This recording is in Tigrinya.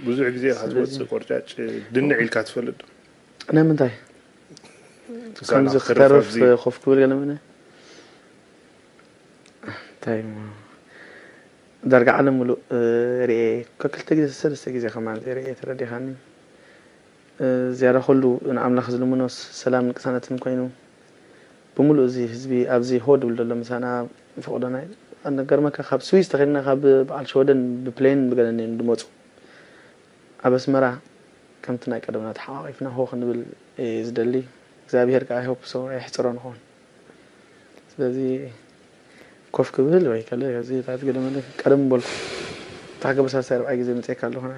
ብዙሕ ግዜ ኢኻ ትመጽእ ቆርጫጭ ድንዕ ኢልካ ትፈልጥ ዶ? ንምንታይ ትሳላ ከምዚ ክትርፍ ክተርፍ ኣብዚ ኮፍ ክብል ገለ ምነ እንታይ እሞ ዳርጋ ዓለም ሙሉእ እ፣ ርኤ ከክልተ ግዜ ሰለስተ ግዜ ከማን ርኤ ተረዲኻኒ። እ፣ ዝያዳ ኩሉ ንኣምላኽ ዝልምኖ ሰላምን ቅሳነትን ኮይኑ ብምሉእ እዚ ህዝቢ ኣብዚ ሆ ድብል ዘሎ ምሳና ፈቕዶና እዩ። ኣነገርመካ ካብ ስዊስ ተኸድና ካብ በዓል ሸወደን ብፕሌን ብገለኒ እዮም ዝመፁ። ኣብ ኣስመራ ከምቲ ናይ ቀደምና ተሓቋቒፍና ሆ ክንብል እየ ዝደሊ። እግዚኣብሄር ከዓ ይሆፕ ሰው የሕፅሮ ንኸውን። ስለዚ ኮፍ ክብል ወይ ከለ እዚ ታት ገለ መለ ቀደም በልኩ። ታገበሳሳይ ርብዓይ ግዜ መፅኤካ ኣለኹና